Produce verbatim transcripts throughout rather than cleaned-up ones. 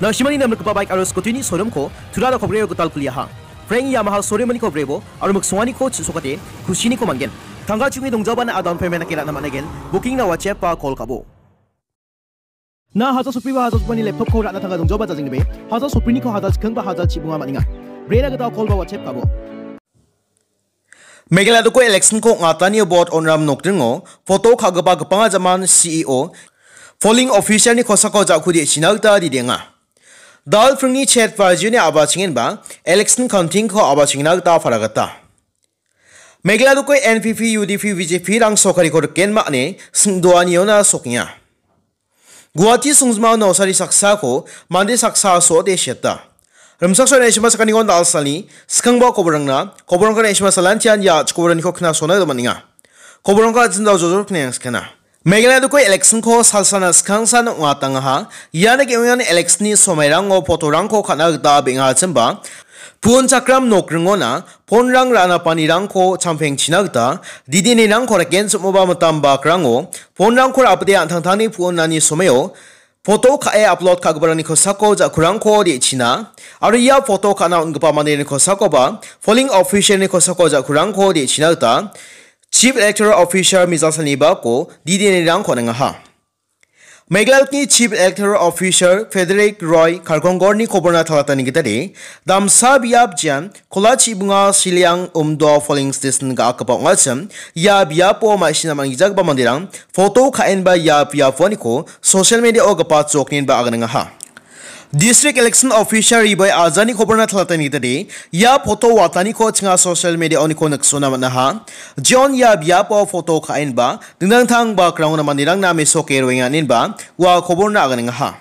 Na·simani namrikgipa baik aro scooty-ni showroom-ko Tura Rokobreyo gital kuliaha. Frank Yamaha showroom-niko brebo aro miksonganiko chu·sokate kusiniko man·gen. Tangka chu·e dongjabana a down payment dake ra·na man·aigen. Booking-na WhatsApp-ba call ka·bo. Na haja sopri ba haja sopani laptop-ko ra·na tangka dongjaba jajengnibe. Haja sopriniko haja chikking ba haja chibunga man·enga. Brena gita call ba WhatsApp ka·bo. Meghalaya doko election-ko ong·atanio bot on·ram nokdringo photo ka·gipa gipanga jaman C E O, polling officer-ni kosako ja·kude china gita didenga. Dal pringni chet bajuni a·bachengenba election counting-ko a·bachengna gita paragata. Meghalaya doko N P P, U D P, B J P-rang sorkariko rikenma ine singdoaniona sokenga. Guwahati songjinmao nausari saksako mande saksa so·ote siata. Rimchaksoa Naisima sakaniko dal salni skangba koborangna, koborangko Naisima salantian ia chikoboraniko knasona gita man·enga. Koborangko ajindao jojor kneng skana. Meghalaya doko election-ko salsana skangsan ong·atangaha. Iana ge·ongan election-ni somairango photo-rangko ka·na gita beng·achimba, puon chakram nokringona phone-rang ra·napanirangko champengchina gita, didinirangko reken sum·oba mitam bakrango phone-rangko ra·bite an·tangtangni puonani somaio photo ka·e upload ka·giparangni kosako ja·kurangko de·china, aro ia photo ka·na on·gipa manderangni kosakoba polling officer-ni kosako ja·kurangko de·china gita Chief Electoral Officer Mijal Salnibako didinirangko on·engaha. Meghalaya Chief Electoral Officer Frederick Roy Kalkongorni koborna talatani gitade, damsa biap jian Kola Chibunga Siliang Umdo polling station ga·akgipa ong·achim, ia biapo ma·sina man·gijagipa manderang photo ka·enba ia biaponiko social media-o gipatjoknenba aganengaha. District Election Officer Ribai Ajani koborna talatani gitade, ia photo wataniko chinga social media-oniko niksona man·aha. John ia biapo photo ka·enba, dingtang tang bakrangona manderangna mesoke roenga inenba, ua koborna aganengaha.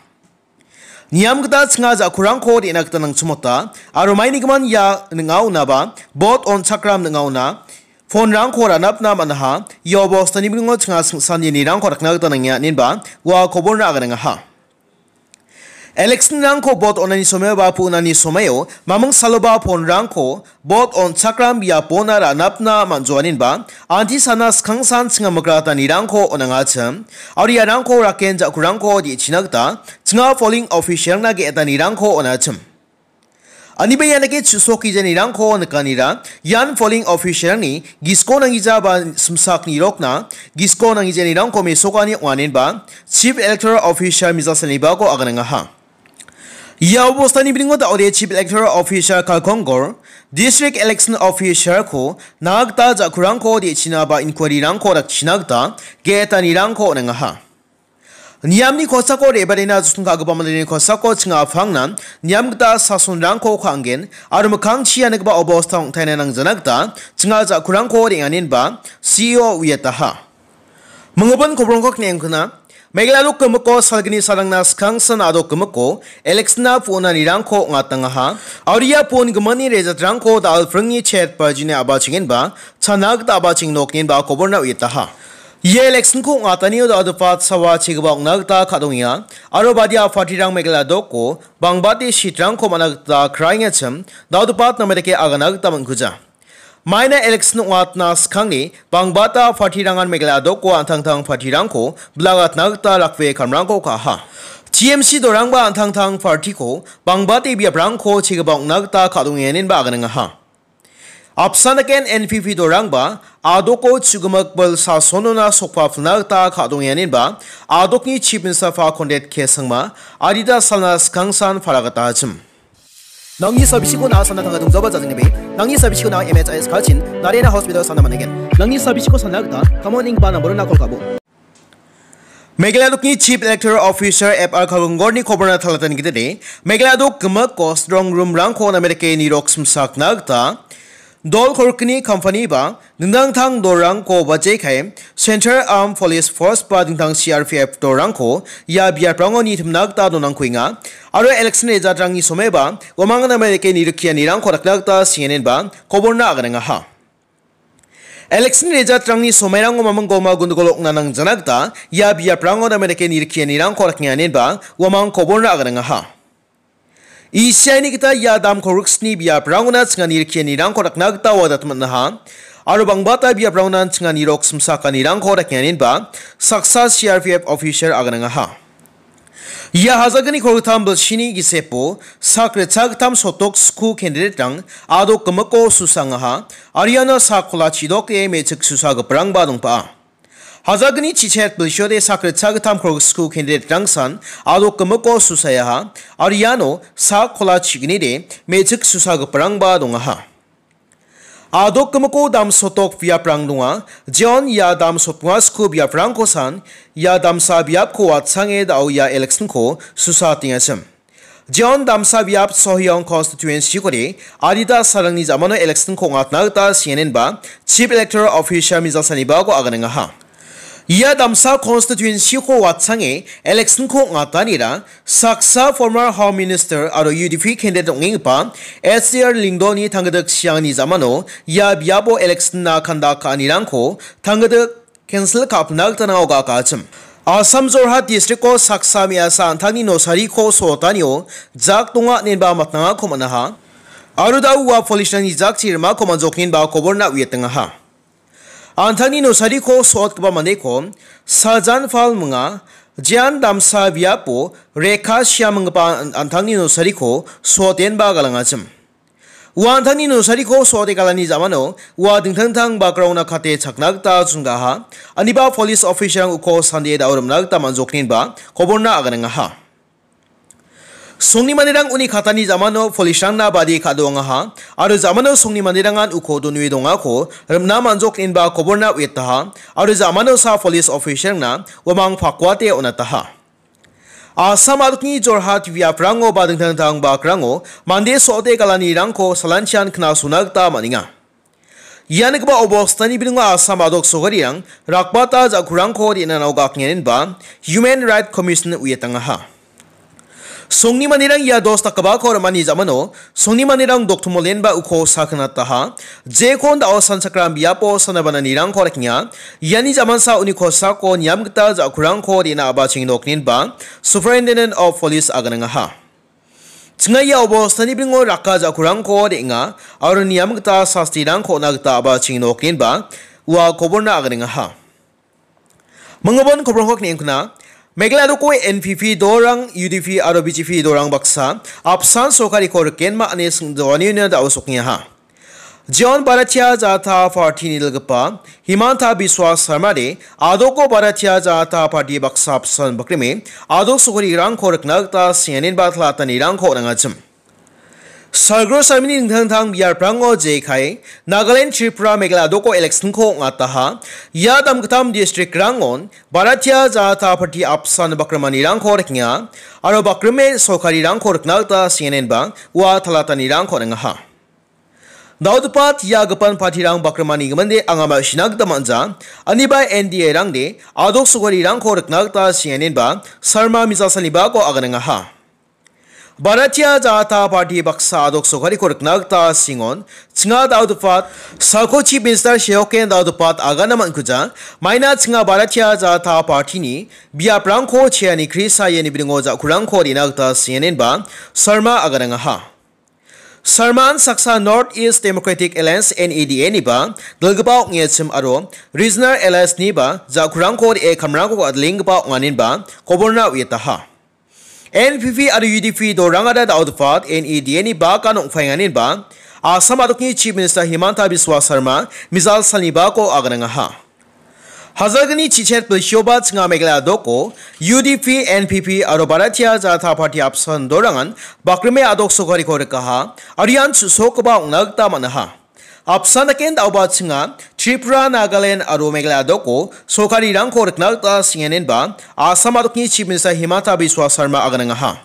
Niam gita chinga ja·kurangko de·na gita nangchimota, aro mainigimin ia ning·aonaba, bot on·chakram ning·aona, phone-rangko ranapna man·aha, ia obostani bilingo chinga singsan yenirangko rakna gita nangenga inenba, ua koborna aganengaha. Election-rangko bot on·ani somaio ba pu·nani somaio maming saloba phone-rangko bot on·chakram biapona ra·napna man·joaninba, anti sana skangsan chinga migratanirangko on·angachim, aro iarangko raken ja·kurangko de·china gita chinga polling officer-rangna ge·etanirangko on·achim. Aniba ianake chu·sok gijanirangko nikanira, ian polling officer-rangni gisko nanggija ba simsak nirokna gisko nanggijanirangko mesokani ong·anenba Chief Electoral Officer Mijal Salnibako aganengaha. Ia obostani bilingo da·ode Chief Electoral Officer Kalkongor, District Election Officer-ko na gita ja·kurangko de·china ba inquiry-rangko dakchina gita ge·etanirangko on·engaha. Niamni kosako re·baatna joson ka·gipa mandeni kosako chinga apangna niam gita sasonrangko ka·angen aro mikkangchi ianigipa obosta ong·taina nangjana gita chinga ja·kurangko re·angenba C E O uiataha. Minggimin kobrongko kne·engkuna, Meghalaya dok gimiko salgni salangna skangsan a·dok gimiko election-na pu·onanirangko ong·atangaha. Aro ia pu·on gimani rejatrangko da·al pringni chet bajini a·bachengenba chana gita a·bacheng nokninba koborna uiataha. Ia election-ko ong·atanio da·algipa sawa chegipa ong·na gita ka·dongenga. Aro badia party-rang Meghalaya doko bangbate seat-rangko man·a gita kraengachim da·algipa name dake agana gita man·kuja. Maina election ong·atna skangni bangbata party-rangan Meghalaya doko an·tangtang party-rangko bilagatna gita rakbe kamrangko ka·aha. T M C dorangba an·tangtang party-ko bangbate biaprangko chegipa ong·na gita ka·dongenenba aganengaha. Apsan daken N P P dorangba a·doko chu·gimik bil sasonona sokpa pilna gita ka·dongenenba a·dokni Chief Minister-pa Conrad K Sangma adita salna skangsan paragata achim. Nangni sabisiko na·a sana tangka dongjaba jajengnibe. Nangni sabisiko na·a M H I S Kachin, Narayana Hospital sana man·aigen. Nangni sabisiko sana gita, kamon ning ba namborona kol ka·bo. Meghalaya dokni Chief Electoral Officer F R Kalgongorni koborna talatani gitade, Meghalaya dok gimiko strong room-rangko name dake nirok simsakna gita, dol kolgni company ba, dingtang tang dorangko bajekai, Central Armed Police Force ba dingtang C R P F dorangko ia biaprango nitimna gita donangkuenga. Aro election rejatrangni somaiba, uamang name dake nirikianirangko dakna gita singenenba, koborna aganengaha. Election rejatrangni somairango maming goma gundogol ong·na nangjana gita, ia biaprango name dake nirikianirangko dakngenenba, uamang koborna aganengaha. Isiaini gita ia dam kolgriksni biaprangona chingani rikianirangko dakna gita wadat man·aha. Aro bangbata biaprangona chingani rok simsakanirangko dakngenenba saksa C R P F officer aganengaha. Ia hajalgni kolgittam bilsini gisepo sak ritchagittam sotok sku candidate-rang adok gimiko susangaha, aro iano sak kola chidoke me·chik susagiparangba dongpa'a. Hajalgni chichet bilsiode sak ritchagittam kolgit sku candidate-rangsan adok gimiko susayaha, aro iano sak kola chignide me·chik susagiparangba dongaha. Adok gimiko damsotok biaprang donga. Jeon ia damsotnga sku biaprangkosan ia damsa biapko watsange dao ia election-ko susa tengachim. Jeon damsa biap Sohyong constituency-kode adita salrangni jamano election-ko ong·atna gita sienenba Chief Electoral Officer Mijal Sanibako aganengaha. Ia damsa constituency-ko watsange election-ko ong·atanira saksa former Home Minister aro U D P candidate ong·enggipa S C R Lyngdohni tanggidik siangni jamano ia biapo election-na kanda ka·anirangko tanggidik cancel ka·pina gita nang·o ga·akachim. Assam Jorhat district-o saksa me·asa an·tangni nosariko so·otanio jak donga inenba matnangako man·aha. Aro da ua police-rangni jakchi rimako man·joknenba koborna uiatengaha. An·tangni nosariko so·atgipa mandeko Sajan Pal minga, jean damsa biapo Rekha Siam inggipa an-, an·tangni nosariko so·atenba galangachim. Ua an·tangni nosariko so·ate galani jamano ua dingtang dingtang bakrongna kate chakna gita chongaha, aniba police officer-rang uko sandie dao rimna gita man·joknenba koborna aganengaha. Songni manderang uni katani jamano police-rangna badi ka·doangaha, aro jamano songni manderangan uko donue dongako rimna man·jok inba koborna uiataha, aro jamano sa police officer-rangna uamang pakuate on·ataha. Assam adokni Jorhat biaprango ba dingtang dingtang bakrango mande so·ode galanirangko salanchian knasona gita man·enga. Ia nikgipa obostani bilingo Assam adok sogarirang rakbata ja·kurangko re·na nao gakngenenba Human Rights Commission uiatangaha. Songni manderang ia dos dakgipako rim·ani jamano songni manderang doktomolenba uko sakgnataha. Jekon da·o sanchakram biapo sanabananirangko rekenga. Iani jamansa uni kosako niam gita ja·kurangko re·na a·bacheng nokninba Superintendent of Police aganangaha. Chinga ia obostani bilingo raka ja·kurangko re·enga aro niam gita sastirangko on·a gita a·bacheng nokninba ua koborna aganengaha. Mingabon koborongko kne·engkuna, Meghalaya doko N P P dorang, U D P aro B J P dorang baksa apsan sorkariko rikenma ine singdoanina da·o sokngaha. Jeon Bharatiya Janata Party-ni dilgipa Himanta Biswa Sarma-de adoko Bharatiya Janata Party baksa apsan bakrime adok sorkarirangko rikna gita sianenba talatanirangko on·angachim. Salgro salmini dingtang dingtang biaprango jekai Nagaland, Tripura, Meghalaya doko election-ko ong·ataha. Ia damgittam district-rangon Bharatiya Janata Party apsan bakrimanirangko rikenga aro bakrime sorkarirangko rikna gita sianenba ua talatanirangko on·angaha. Daodipat ia gipan party-rang bakrimani giminde anga ma·sina gita man·ja. Aniba N D A-rangde adok sorkarirangko rikna gita sianenba Sarma mijasanibako aganengaha. Bharatiya Janata Party baksa adok sorkariko rikna gita singon, chinga Daodipat, salko Chief Minister Sheoken Daodipat agana man·kuja, maina chinga Bharatiya Janata Party-ni biaprangko cheani krisa iani bilingo ja·kurangko re·na gita sianenba Sarma aganangaha. Sarman saksa North East Democratic Alliance, N E D A-niba dilgipa ong·achim aro Regional Alliance-niba ja·kurangko re·e kamrangko ad·lenggipa ong·aninba koborna uiataha. N P P aro U D P dorangara Daodipat N E D A-ni bakan ong·paenganinba Assam adokni Chief Minister Himanta Biswa Sarma mijal salnibako aganangaha. Hajalgni chichet bilsioba chinga Meghalaya doko U D P, N P P aro Bharatiya Janata Party apsan dorangan bakrime adok sorkariko rikaha, aro ian chu·sokgipa ong·na gita man·aha. Apsan daken da·oba chinga Tripura, Nagaland aro Meghalaya doko sorkarirangko rikna gita singenenba Assam adokni Chief Minister Himanta Biswa Sarma aganangaha.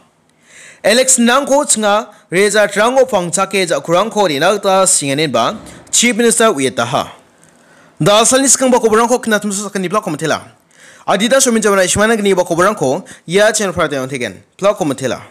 Election-rangko chinga result-rango pangchake ja·kurangko re·na gita singenenba Chief Minister uiataha. Da·alsalni skangba koborangko knatimso sakani blako mitela. Adita somin jamana ishmana gniba koborangko ia channel-o prateng on·tegen. Blako mitela.